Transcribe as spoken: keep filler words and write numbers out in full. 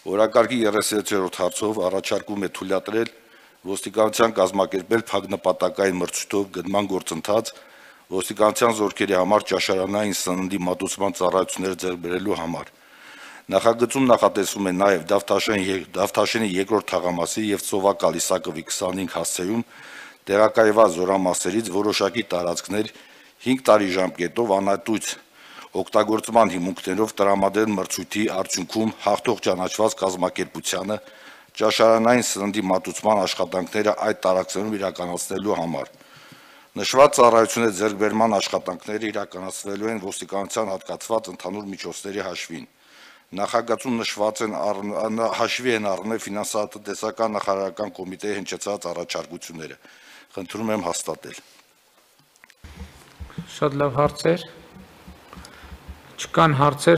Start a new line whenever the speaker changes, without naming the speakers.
Օրակարգի երեսունյոթերորդ հարցով առաջարկում է թույլատրել ոստիկանության կազմակերպել փակնպատակային մրցույթով գնման գործընթաց ոստիկանության զորքերի համար ճաշարանային սննդի մատուցման ծառայություններ ձեռք բերելու համար։ Նախագծում նախատեսվում է նաև Դավթաշենի երկրորդ թաղամասի եւ Ծովակալ Իսակովի քսանհինգ հասցեում տեղակայված զորամասերից որոշակի տարածքներ հինգ տարի ժամկետով անհատույց օգտագործման հիմունքներով տրամադրել մրցույթի արդյունքում հաղթող ճանաչված կազմակերպությանը ճաշարանային սննդի մատուցման աշխատանքները այդ տարածքներում իրականացնելու համար։ Նշված ծառայությունների ձեռքբերման աշխատանքները իրականացվելու են ոստիկանության հատկացված ընդհանուր միջոցների հաշվին։ Նախագծում նշված են հաշվի են առնել ֆինանսատնտեսական նախարարական կոմիտեի հնչեցած առաջարկությունները։ Խնդրում եմ հաստատել։
Շատ լավ հարցեր։ Չկան հարցեր,